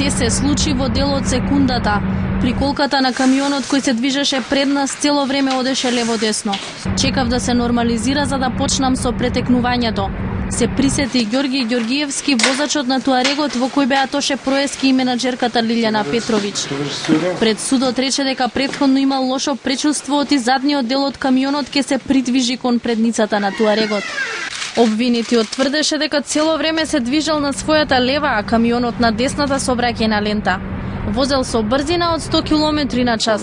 се случи во дел од секундата. Приколката на камионот кој се движеше пред нас цело време одеше лево-десно. Чекав да се нормализира за да почнам со претекнувањето. Се присети Ѓорги Ѓоргиевски, возачот на туарегот во кој беа Тоше Проески и менаџерката Лилјана Петровиќ. Пред судот рече дека претходно имал лошо пречувство и задниот дел од камионот ке се придвижи кон предницата на туарегот. Обвинетиот тврдеше дека цело време се движел на својата лева, а камионот на десната сообраќајна лента. Возел со брзина од 100 км на час.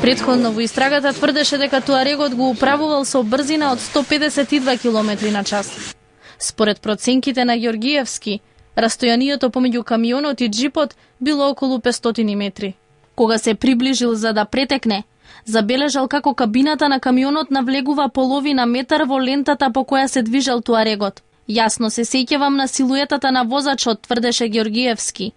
Претходно во истрагата тврдеше дека туарегот го управувал со брзина од 152 км на час. Според проценките на Ѓоргиевски, растојанието помеѓу камионот и джипот било околу 500 метри. Кога се приближил за да претекне, забележал како кабината на камионот навлегува половина метар во лентата по која се движел туарегот. Јасно се сеќавам на силуетата на возачот, тврдеше Ѓоргиевски.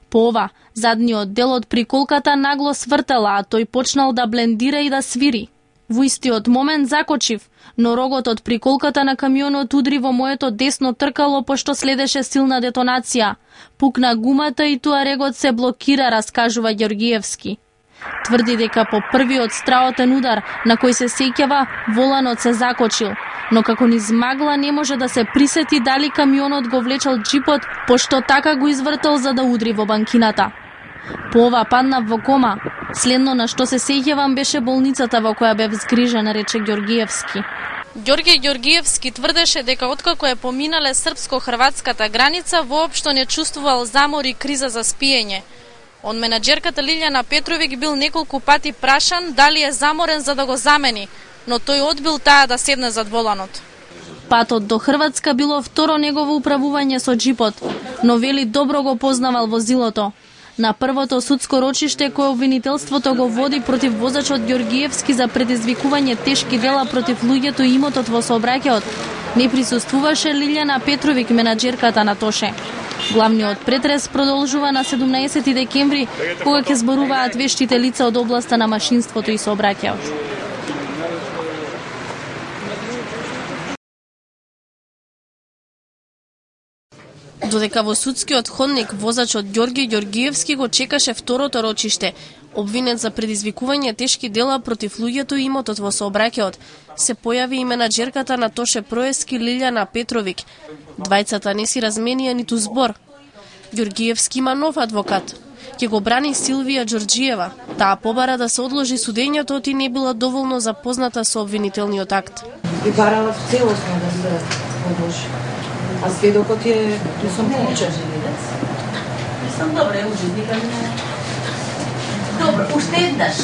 По ова, задниот дел од приколката нагло свртела, а тој почнал да блендира и да свири. Во истиот момент закочив, но рогот од приколката на камионот удри во моето десно тркало пошто следеше силна детонација. Пукна гумата и туарегот се блокира, раскажува Ѓоргиевски. Тврди дека по првиот страотен удар на кој се сеќава, воланот се закочил, но како низ магла не може да се присети дали камионот го влечел джипот, пошто така го извртел за да удри во банкината. По ова паднав во кома. Следно на што се сеќавам беше болницата во која бев згрижен, рече Ѓоргиевски. Ѓорги Ѓоргиевски тврдеше дека откако е поминале српско-хрватската граница, воопшто не чувствувал замор и криза за спиење. Од менаџерката Лилјана Петровиќ бил неколку пати прашан дали е заморен за да го замени, но тој одбил таа да седне зад воланот. Патот до Хрватска било второ негово управување со джипот, но вели добро го познавал возилото. На првото судско рочиште кое обвинителството го води против возачот Ѓоргиевски за предизвикување тешки дела против луѓето и имотот во сообраќајот, не присуствуваше Лилјана Петровиќ, менаџерката на Тоше. Главниот претрес продолжува на 17 декември, кога ќе зборуваат вештите лица од областа на машинството и сообраќајот. Додека во судскиот ходник возачот Ѓорги Ѓоргиевски го чекаше второто рочиште, обвинет за предизвикување тешки дела против луѓето и имотот во сообраќајот, се појави и менаџерката на Тоше Проески Лилјана Петровиќ. Двајцата не си разменија ниту збор. Ѓоргиевски има нов адвокат. Ќе го брани Силвија Ѓорџиева. Таа побара да се одложи судењето и не била доволно запозната со обвинителниот акт. И барала целосно да се одложи. А сведокот е, не сум получен. Не сум добре, ужитника не. Добро, уште еднаш.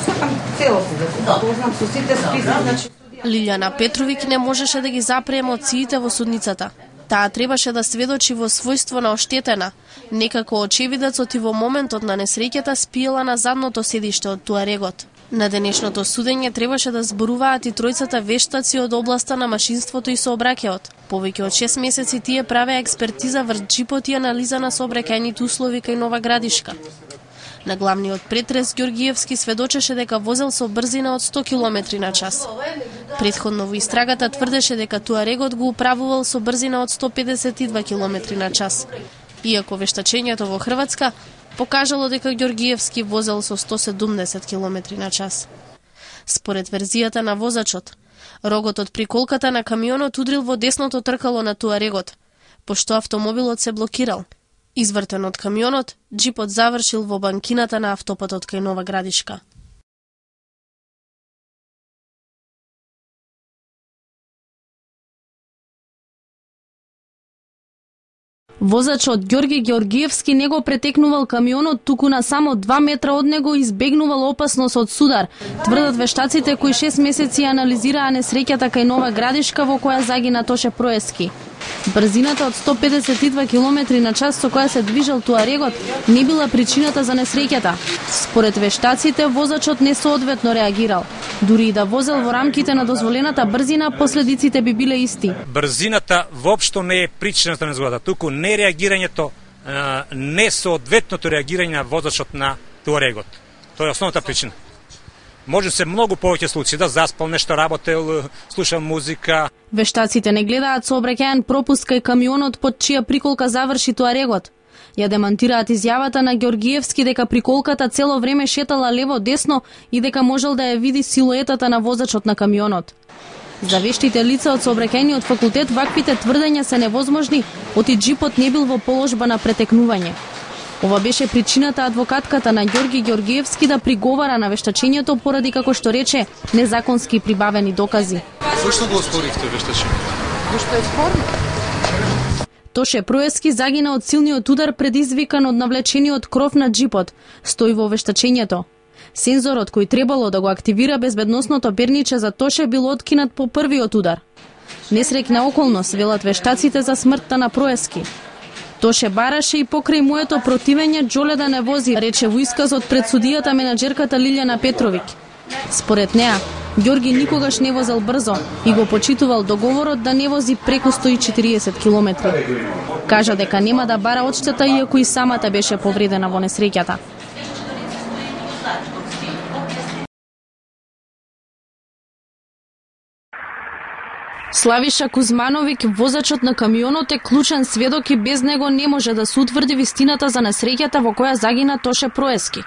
Сакам целосно да се познам со сите списи, значи. Лилјана Петровиќ не можеше да ги запре емоциите во судницата. Таа требаше да сведочи во својство на оштетена. Некако очевидецот и во моментот на несреќата спиела на задното седиште од туарегот. На денешното судење требаше да зборуваат и тројцата вештаци од областа на машинството и сообраќајот. Повеќе од 6 месеци тие правеа експертиза врз джипот и анализа на сообраќајните услови кај Нова Градишка. На главниот претрес Ѓоргиевски сведочеше дека возел со брзина од 100 км на час. Претходно во истрагата тврдеше дека туарегот го управувал со брзина од 152 км на час. Иако вештачењето во Хрватска покажало дека Ѓоргиевски возел со 170 км на час. Според верзијата на возачот, рогот од приколката на камионот удрил во десното тркало на туарегот, пошто автомобилот се блокирал. Извртен од камионот, джипот завршил во банкината на автопатот кај Нова Градишка. Возачот Ѓорги Ѓоргиевски не го претекнувал камионот, туку на само 2 метра од него избегнувал опасност од судар, тврдат вештаците кои 6 месеци анализираа несреќата кај Нова Градишка во која загина Тоше Проески. Брзината од 152 км на час со која се движел туарегот не била причината за несреќата. Според вештаците, возачот несоодветно реагирал. Дури и да возел во рамките на дозволената брзина, последиците би биле исти. Брзината воопшто не е причината на незгодата, туку не реагирањето, несоодветното реагирање на возачот на туарегот. Тоа е основната причина. Може се многу повеќе случаи да заспал, нешто работел, слушал музика. Вештаците не гледаат сообраќајен пропуст кај камионот под чија приколка заврши туарегот. Ја демантираат изјавата на Ѓоргиевски дека приколката цело време шетала лево-десно и дека можел да ја види силуетата на возачот на камионот. За вештите лица од сообраќајниот факултет ваквите тврдења се невозможни, оти джипот не бил во положба на претекнување. Ова беше причината адвокатката на Ѓорги Ѓоргиевски да приговара на вештачењето поради, како што рече, незаконски прибавени докази. Зошто го оспорихте вештачењето? Зашто е спорно? Тоше Проески загина од силниот удар предизвикан од навлечениот кров на джипот, стои во вештачењето. Сензорот кој требало да го активира безбедносното перниче за Тоше бил откинат по првиот удар. Несреќна околност, велат вештаците за смртта на Проески. Тоше бараше и покрај моето противење Џоле да не вози, рече во исказот пред судијата менаџерката Лилјана Петровиќ. Според неа, Ѓорги никогаш не возел брзо и го почитувал договорот да не вози преку 140 километри. Кажа дека нема да бара одштета иако и самата беше повредена во несреќата. Славиша Кузмановиќ, возачот на камионот, е клучен сведок и без него не може да се утврди вистината за несреќата во која загина Тоше Проески.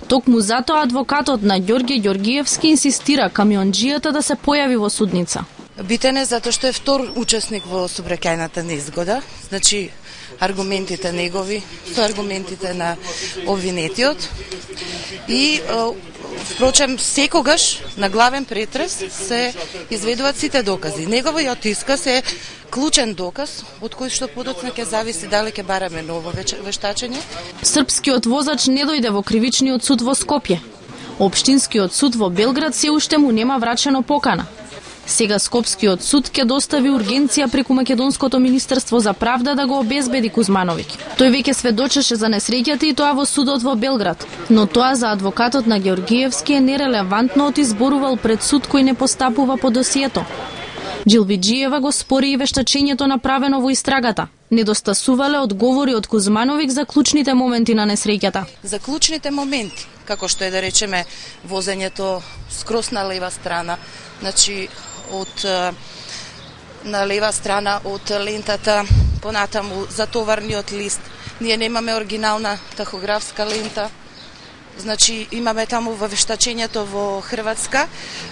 Токму затоа адвокатот на Ѓорги Ѓоргиевски инсистира камионџијата да се појави во судница. Битен е затоа што е втор учесник во сообраќајната незгода, значи аргументите негови со аргументите на обвинетиот и впрочем секогаш на главен претрес се изведуваат сите докази. Неговиот исказ е клучен доказ од кој што подоцна ќе зависи дали ќе бараме ново вештачење. Српскиот возач не дојде во кривичниот суд во Скопје. Општинскиот суд во Белград се уште му нема врачено покана. Сега Скопскиот суд ќе достави ургенција преку Македонското министерство за правда да го обезбеди Кузмановиќ. Тој веќе сведочеше за несреќата и тоа во судот во Белград, но тоа за адвокатот на Ѓоргиевски е нерелевантно, оти зборувал пред суд кој не постапува по досието. Джилвиџиева го спори и вештачењето направено во истрагата. Недостасувале одговори од Кузмановиќ за клучните моменти на несреќата. За клучните моменти, како што е да речеме возењето скрос на лева страна, значи на лева страна од лентата, понатаму за товарниот лист. Ние немаме оригинална тахографска лента. Значи имаме таму во вештачењето во Хрватска,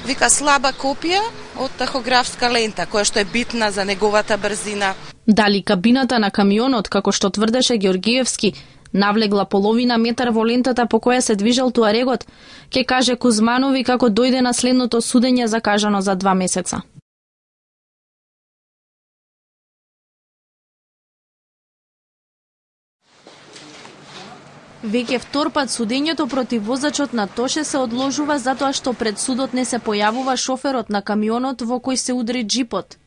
вика слаба копија од тахографска лента, која што е битна за неговата брзина. Дали кабината на камионот, како што тврдеше Ѓоргиевски, навлегла половина метар во лентата по која се движел туарегот, ќе каже Кузманови како дојде на следното судење закажано за 2 месеца. Веќе втор пат судењето против возачот на Тоше се одложува затоа што пред судот не се појавува шоферот на камионот во кој се удри джипот.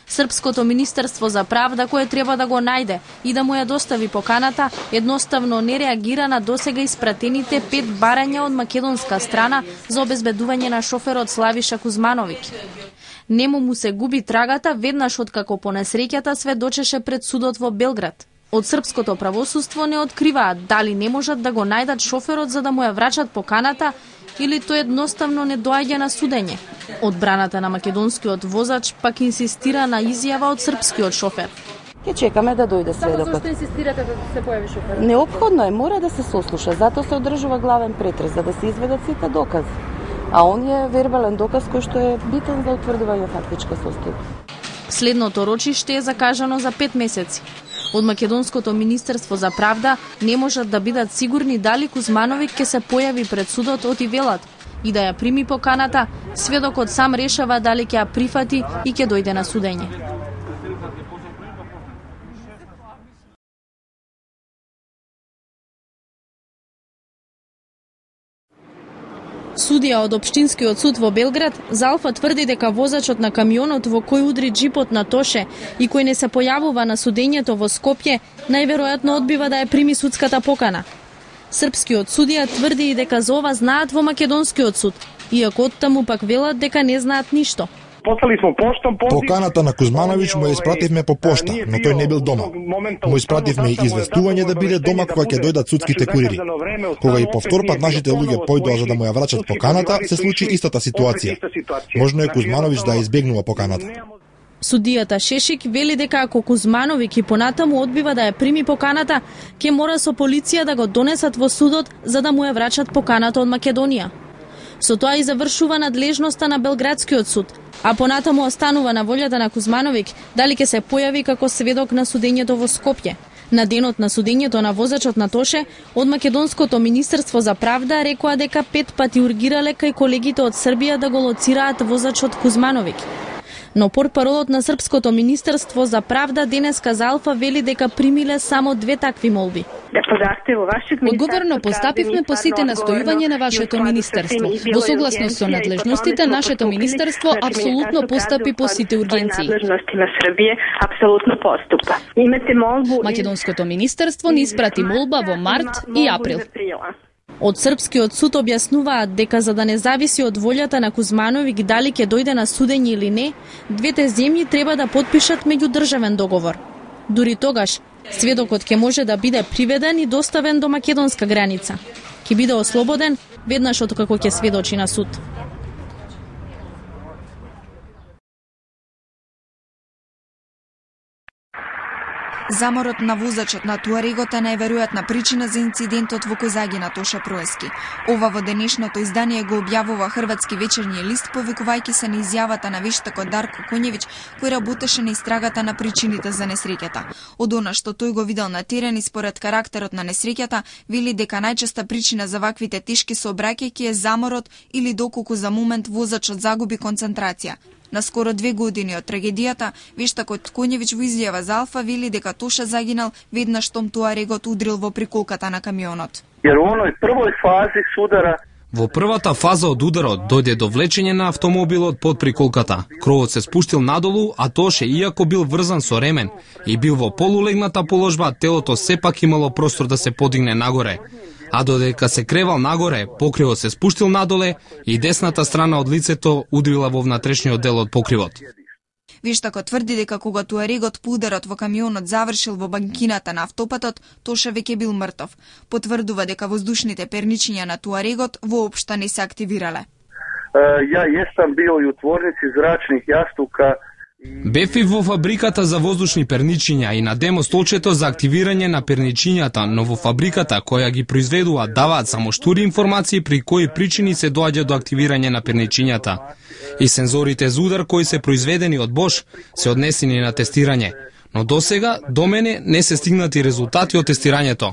Српското министерство за правда, кое треба да го најде и да му ја достави поканата, едноставно не реагира на досега испратените 5 барања од македонска страна за обезбедување на шоферот Славиша Кузмановиќ. Нему му се губи трагата веднаш откако по несреќата сведочеше пред судот во Белград. Од српското правосудство не откриваат дали не можат да го најдат шоферот за да му ја врачат поканата или тој едноставно не доаѓа на судење. Одбраната на македонскиот возач пак инсистира на изјава од српскиот шофер. Ќе чекаме да дојде сведокот. Зашто инсистирате да се појави шоферот? Неопходно е, мора да се сослуша, затоа се одржува главен претрес, за да се изведат сите докази. А он е вербален доказ кој што е битен за утврдување фактичка состојба. Следното рочиште е закажано за 5 месеци. Од Македонското министерство за правда не можат да бидат сигурни дали Кузмановиќ ќе се појави пред судот оти велат и да ја прими поканата, сведокот сам решава дали ќе ја прифати и ќе дојде на судење. Судија од Општинскиот суд во Белград, Залфа тврди дека возачот на камионот во кој удри джипот на Тоше и кој не се појавува на судењето во Скопје, најверојатно одбива да ја прими судската покана. Српскиот судија тврди и дека за ова знаат во Македонскиот суд, иако оттаму пак велат дека не знаат ништо. Послали смо поштом позив. Поканата на Кузмановиќ му ја испративме по пошта, но тој не бил дома. Му испративме и известување да биде дома кога ќе дојдат судските курири. Кога и повтор пат нашите луѓе појдоа за да му ја врачат поканата, се случи истата ситуација. Можно е Кузмановиќ да избегнува поканата. Судијата Шешик вели дека ако Кузмановиќ и понатаму одбива да ја прими поканата, ќе мора со полиција да го донесат во судот за да му ја врачат поканата од Македонија. Со тоа и завршува надлежноста на Белградскиот суд, а понатаму останува на волјата на Кузмановиќ дали ќе се појави како сведок на судењето во Скопје. На денот на судењето на возачот на Тоше, од Македонското министерство за правда рекоа дека 5 пати ургирале кај колегите од Србија да го лоцираат возачот Кузмановиќ. Но портпаролот на Српското министерство за правда денеска за Алфа вели дека примиле само 2 такви молби. Одговорно постапивме по сите настојување на вашето министерство. Во согласност со надлежностите, нашето министерство апсолутно постапи по сите ургенции. Македонското министерство ни испрати молба во март и април. Од Српскиот суд објаснуваат дека за да не зависи од волјата на Кузмановиќ дали ќе дојде на судење или не, двете земји треба да потпишат меѓудржавен договор. Дури тогаш, сведокот ќе може да биде приведен и доставен до македонска граница. Ќе биде ослободен веднаш откако ќе сведочи на суд. Заморот на возачот на Туарегот е најверојатна причина за инцидентот во Козаги на Тоша Проески. Ова во денешното издание го објавува Хрватски вечерни лист, повикувајќи се на изјавата на вештакот Дарко Конјевиќ, кој работеше на истрагата на причините за несреќата. Од она што тој го видел на терен и според карактерот на несреќата, вели дека најчеста причина за ваквите тешки сообраќајки е заморот или доколку за момент возачот загуби концентрација. На скоро 2 години од трагедијата, вештакот Конјевиќ во изјава за Алфа вели дека Тоша загинал веднаш штом Туарегот удрил во приколката на камионот. Во првата фаза од ударот дојде до влечење на автомобилот под приколката. Кровот се спуштил надолу, а Тоше, иако бил врзан со ремен и бил во полулегната положба, телото сепак имало простор да се подигне нагоре. А додека се кревал нагоре, покривот се спуштил надоле и десната страна од лицето удрила во внатрешниот дел од покривот. Вештакот тврди дека кога Туарегот по ударот во камионот завршил во банкината на автопатот, Тоша веќе бил мртов. Потврдува дека воздушните перничиња на Туарегот воопшто не се активирале. Ја jesam bio i u tvornici zračnih jastuka. Бев и во фабриката за воздушни перничиња и на демостолчето за активирање на перничињата, но во фабриката која ги произведуваат даваат само штури информации при кои причини се доаѓа до активирање на перничињата. И сензорите за удар кои се произведени од Бош се однесени на тестирање, но досега до мене не се стигнати резултати од тестирањето.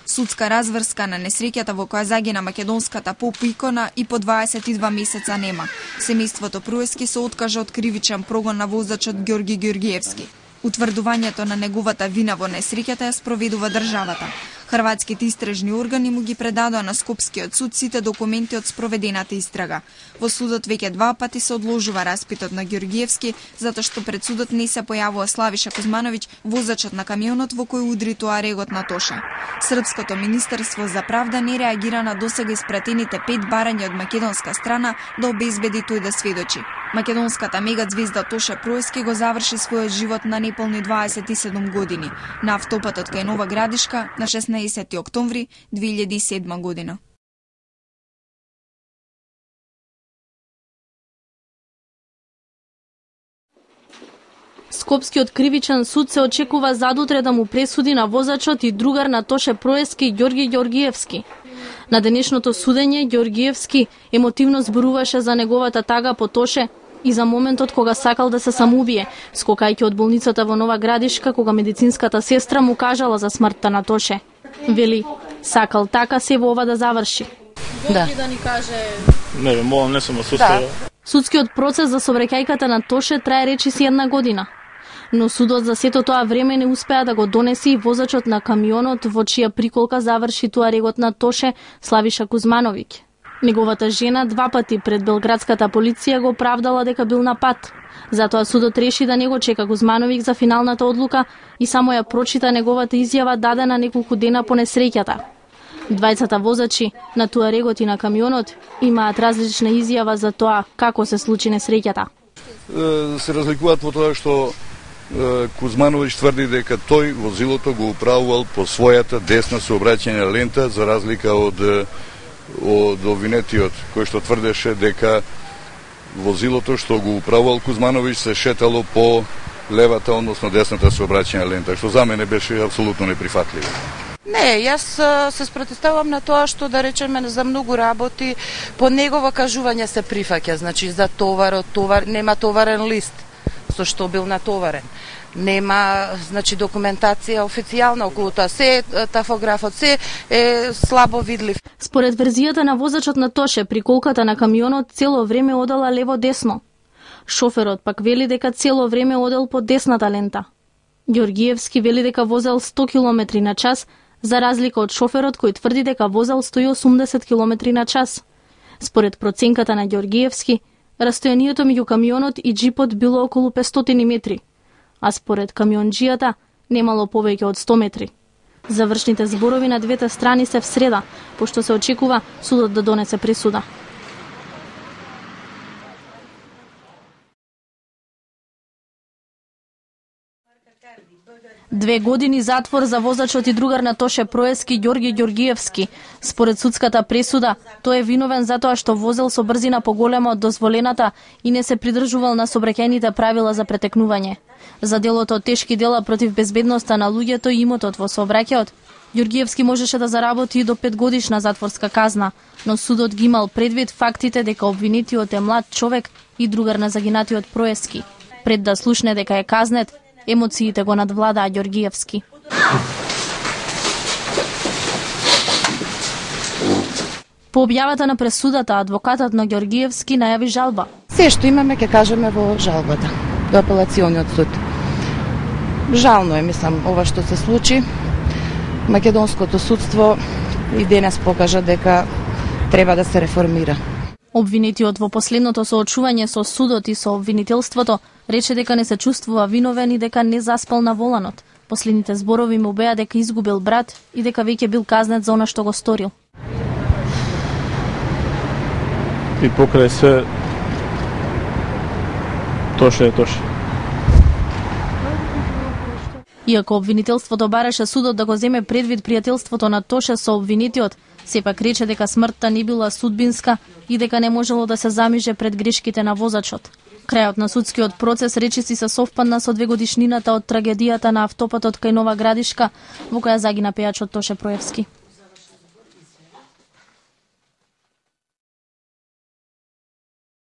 Судска разврска на несреќата во која загина македонската поп-икона и по 22 месеца нема. Семејството Проески се откажа од кривичен прогон на возачот Ѓорги Ѓоргиевски. Утврдувањето на неговата вина во несреќата ја спроведува државата. Хрватските истражни органи му ги предадоа на Скопскиот суд сите документи од спроведената истрага. Во судот веќе 2 пати се одложува распитот на Ѓоргиевски, затоа што пред судот не се појавува Славиша Кузмановиќ, возачот на камионот во кој удри Туарегот на Тоша. Српското министерство за правда не реагира на досега испратените 5 барања од македонска страна да обезбеди тој да сведочи. Македонската мегазвезда Тоша Проески го заврши својот живот на неполни 27 години на автопатот кај Нова Градишка на 16 октомври 2007 година. Скопскиот кривичен суд се очекува задутре да му пресуди на возачот и другар на Тоше Проески Ѓорги Ѓоргиевски. На денешното судење Ѓоргиевски емотивно зборуваше за неговата тага по Тоше и за моментот кога сакал да се самоубие, скокајќи од болницата во Нова Градишка кога медицинската сестра му кажала за смртта на Тоше. Вели, сакал така се во ова да заврши. Да. Да ни каже... Не сум осуствувал. Судскиот процес за собраќајката на Тоше трае речиси 1 година. Но судот за сето тоа време не успеа да го донесе и возачот на камионот во чија приколка заврши Туарегот на Тоше, Славиша Кузмановиќ. Неговата жена 2 пати пред белградската полиција го оправдала дека бил на пат. Затоа судот реши да не го чека Кузмановиќ за финалната одлука и само ја прочита неговата изјава дадена неколку дена по несреќата. Двајцата возачи на Туарегот и на камионот имаат различна изјава за тоа како се случи несреќата. се разликуваат во тоа што Кузмановиќ тврди дека тој возилото го управувал по својата десна сообраќајна лента, за разлика од обвинетиот кој што тврдеше дека возилото што го управувал Кузмановиќ се шетало по левата, односно десната сообраќајна лента, што за мене беше апсолутно неприфатливо. Не, јас се спротивставам на тоа што, да речеме, за многу работи по негово кажување се прифаќа, значи за товар, нема товарен лист со што бил натоварен. Нема, значи, документација официјална околу тоа, се тафографот, се е слабо видлив. Според верзијата на возачот на Тоше, приколката на камионот цело време одела лево-десно. Шоферот пак вели дека цело време одел по десната лента. Ѓоргиевски вели дека возел 100 км на час, за разлика од шоферот кој тврди дека возел 180 км на час. Според проценката на Ѓоргиевски, растојанието меѓу камионот и джипот било околу 500 метри, а според камионџијата немало повеќе од 100 метри. Завршните зборови на двете страни се в среда, пошто се очекува судот да донесе пресуда. Две години затвор за возачот и другар на Тоше Проески Ѓорги Ѓоргиевски. Според судската пресуда, тој е виновен затоа што возел со брзина поголема од дозволената и не се придржувал на сообраќајните правила за претекнување. За делото од тешки дела против безбедноста на луѓето и имотот во сообраќајот, Ѓоргиевски можеше да заработи и до 5 годишна затворска казна, но судот ги имал предвид фактите дека обвинетиот е млад човек и другар на загинатиот Проески. Пред да слушне дека е казнет, емоциите го надвладаа Ѓоргиевски. По објавата на пресудата, адвокатот на Ѓоргиевски најави жалба. Се што имаме ќе кажеме во жалбата до апелациониот суд. Жално е, мислам, ова што се случи. Македонското судство и денес покажа дека треба да се реформира. Обвинетиот во последното соочување со судот и со обвинителството рече дека не се чувствува виновен и дека не заспал на воланот. Последните зборови му беа дека изгубил брат и дека веќе бил казнет за она што го сторил. И покрај се Тоше е Тоше. Иако обвинителството бараше судот да го земе предвид пријателството на Тоше со обвинетиот, сепак рече дека смртта не била судбинска и дека не можело да се замиже пред грешките на возачот. Крајот на судскиот процес речиси се совпадна со 2 годишнината од трагедијата на автопатот кај Нова Градишка, во која загина пејачот Тоше Проевски.